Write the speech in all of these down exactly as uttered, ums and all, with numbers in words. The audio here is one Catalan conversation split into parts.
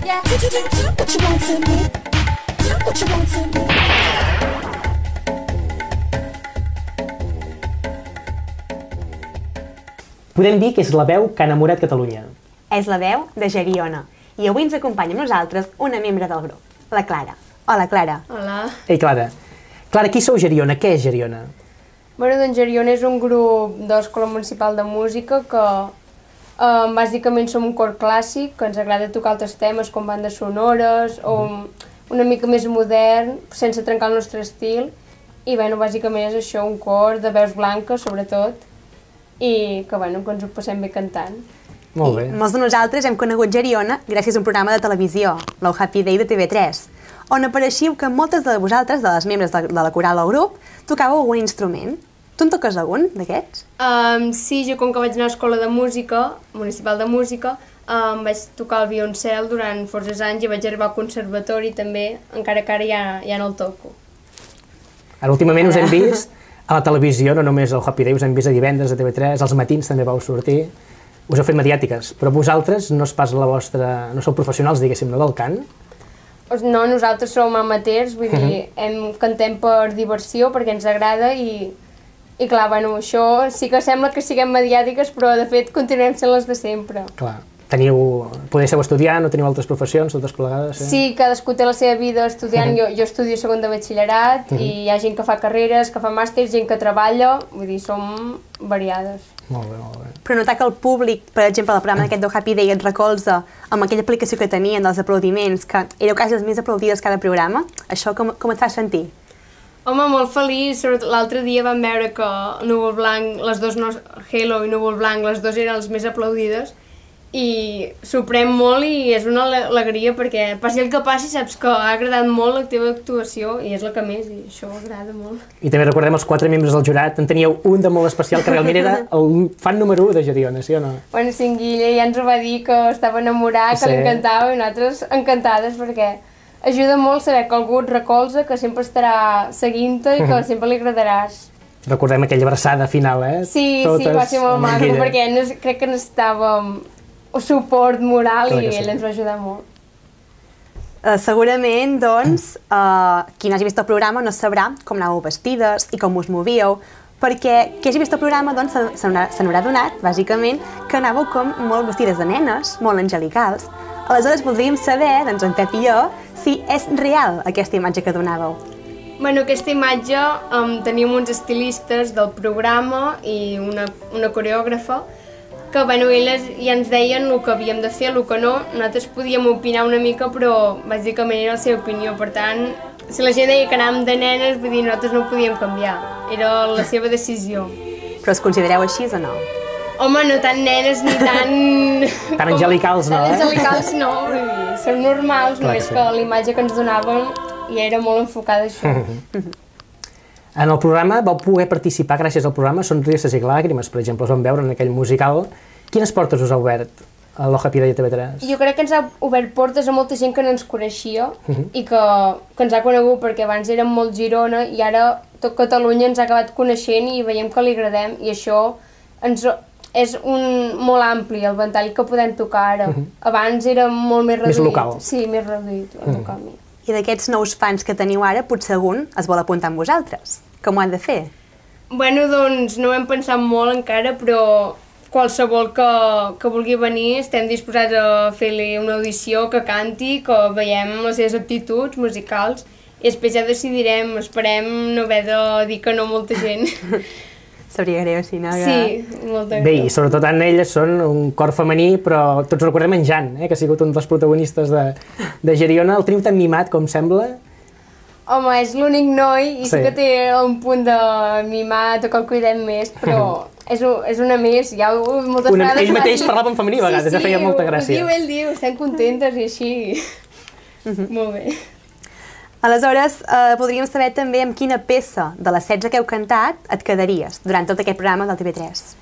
Podem dir que és la veu que ha enamorat Catalunya. És la veu de Geriona. I avui ens acompanya amb nosaltres una membre del grup, la Clara. Hola, Clara. Hola. Ei, Clara. Clara, qui sou Geriona? Què és Geriona? Bueno, doncs Geriona és un grup d'Escola Municipal de Música que eh, bàsicament som un cor clàssic, que ens agrada tocar altres temes com bandes sonores o una mica més modern, sense trencar el nostre estil. I bueno, bàsicament és això, un cor de veus blanques, sobretot, i que, bueno, que ens ho passem bé cantant. Molt bé. I molts de nosaltres hem conegut Geriona gràcies a un programa de televisió, l'O Happy Day de T V tres, on apareixiu que moltes de vosaltres, de les membres de, de la coral del grup, tocàveu algun instrument. Tu en toques algun d'aquests? Um, sí, jo com que vaig anar a l'escola de música, municipal de música, um, vaig tocar el violoncel durant forces anys i vaig arribar al conservatori també, encara que ara ja, ja no el toco. Ara últimament us hem vist a la televisió, no només al Happy Day, us hem vist a divendres a T V tres, als matins també vau sortir, us heu fet mediàtiques, però vosaltres no és pas la vostra, no sou professionals, diguéssim, no, del cant? No, nosaltres som amateurs, vull dir, hem, cantem per diversió, perquè ens agrada i, i clar, bueno, això sí que sembla que siguem mediàtiques, però de fet continuem sent les de sempre. Clar. Teniu, podeu ser estudiant, no teniu altres professions, totes plegades? Eh? Sí, cadascú té la seva vida estudiant, jo, jo estudio segon de batxillerat i hi ha gent que fa carreres, que fa màsters, gent que treballa, vull dir, som variades. Molt bé, molt bé. Però notar que el públic, per exemple, el programa d'aquest do Happy Day et recolza amb aquella aplicació que tenien dels aplaudiments, que éreu quasi els més aplaudides cada programa, això com, com et fa sentir? Home, molt feliç, sobretot l'altre dia vam veure que Núvol Blanc, les dues, no, Hello i Núvol Blanc, les dues eren les més aplaudides, i sorprèn molt i és una alegria perquè passi el que passi saps que ha agradat molt la teva actuació i és la que més i això agrada molt. I també recordem els quatre membres del jurat, en teníeu un de molt especial que realment era el fan número u de Geriona, sí o no? Bueno, sí, en Guille ja ens ho va dir que estava enamorat, que sí. Li encantava i nosaltres encantades perquè ajuda molt saber que algú et recolza, que sempre estarà seguint-te i que sempre li agradaràs. Recordem aquella abraçada final, eh? Sí, Totes sí, va ser molt maco perquè crec que necessitàvem suport moral i ell ens va ajudar molt. Uh, segurament, doncs, uh, qui no hagi vist el programa no sabrà com anàveu vestides i com us movíeu, perquè qui hagi vist el programa doncs, se n'haurà donat, bàsicament, que anàveu com molt vestides de nenes, molt angelicals. Aleshores voldríem saber, doncs en Pep i jo, si és real aquesta imatge que donàveu. Bueno, aquesta imatge um, teníem uns estilistes del programa i una, una coreògrafa que bueno, elles ja ens deien el que havíem de fer, el que no. Nosaltres podíem opinar una mica, però bàsicament era la seva opinió. Per tant, si la gent deia que anàvem de nenes, vull dir, nosaltres no ho podíem canviar. Era la seva decisió. Però us considereu així o no? Home, no tan nenes ni tan... Tan angelicals, no, eh? Tan angelicals no, vull dir, som normals, només que l'imatge que ens donaven ja era molt enfocada a això. En el programa vau poder participar, gràcies al programa, Sonrises i Làgrimes, per exemple, us vam veure en aquell musical. Quines portes us ha obert a l'O Happy Day de T V tres? Jo crec que ens ha obert portes a molta gent que no ens coneixia i que, que ens ha conegut perquè abans érem molt Girona i ara tot Catalunya ens ha acabat coneixent i veiem que li agradem i això ens, és un, molt ampli el ventall que podem tocar ara. Abans era molt més reduït. Més local. Sí, més reduït el local. I d'aquests nous fans que teniu ara, potser algun es vol apuntar amb vosaltres. Com ho han de fer? Bueno, doncs no ho hem pensat molt encara, però qualsevol que, que vulgui venir estem disposats a fer-li una audició, que canti, que veiem les seves aptituds musicals i després ja decidirem, esperem no haver de dir que no a molta gent. Sabria greu, sí, no? Sí, molta greu. Bé, i sobretot elles són un cor femení, però tots recordem en Jan, eh, que ha sigut un dels protagonistes de, de Geriona. El teniu tan mimat, com sembla? Home, és l'únic noi i sí. sí que té un punt de mimar, que el cuidem més, però és, un, és una més, ja moltes una, vegades... Ell mateix dir... parlava en femení a vegades, sí, sí, feia molta gràcia. Sí, ho diu, ell diu, estem contentes i així. Uh-huh. Molt bé. Aleshores, eh, podríem saber també amb quina peça de les setze que heu cantat et quedaries durant tot aquest programa del T V tres.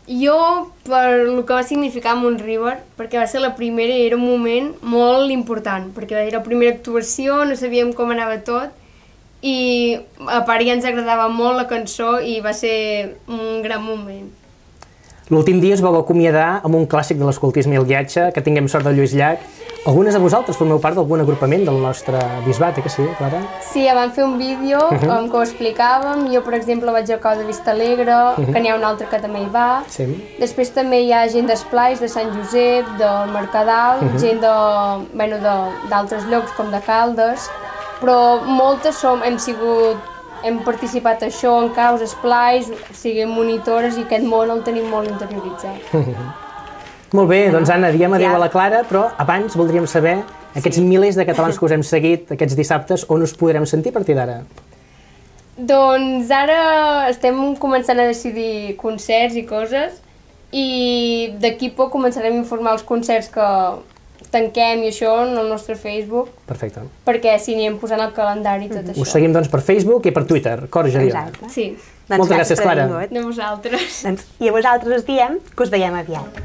Jo, per el que va significar Montriver, perquè va ser la primera i era un moment molt important, perquè era la primera actuació, no sabíem com anava tot, i a part ja ens agradava molt la cançó i va ser un gran moment. L'últim dia es vau acomiadar amb un clàssic de l'escoltisme i el guiatge, Que tinguem sort de Lluís Llach. Algunes de vosaltres formeu part d'algun agrupament del nostre bisbat, eh que sí, Clara? Sí, ja vam fer un vídeo um, que ho explicàvem. Jo, per exemple, vaig al cau de Vistalegre, que n'hi ha un altre que també hi va. Sí. Després també hi ha gent d'Esplais, de Sant Josep, del Mercadal, gent de, bueno, d'altres llocs com de Caldes, però moltes som, hem sigut, hem participat a això en caus, Esplais, siguem monitores i aquest món el tenim molt interioritzat. Molt bé, doncs Anna, diem adéu Ja. a la Clara, però abans voldríem saber, aquests milers de catalans que us hem seguit aquests dissabtes, on us podrem sentir a partir d'ara? Doncs ara estem començant a decidir concerts i coses i d'aquí poc començarem a informar els concerts que tanquem i això en el nostre Facebook. Perfecte. Perquè si anirem posant el calendari i tot això. Us seguim doncs per Facebook i per Twitter, Cor Geriona. Exacte. Sí. Doncs Moltes gràcies, per Clara. haver vingut. De vosaltres. Doncs, I a vosaltres us diem que us veiem aviat.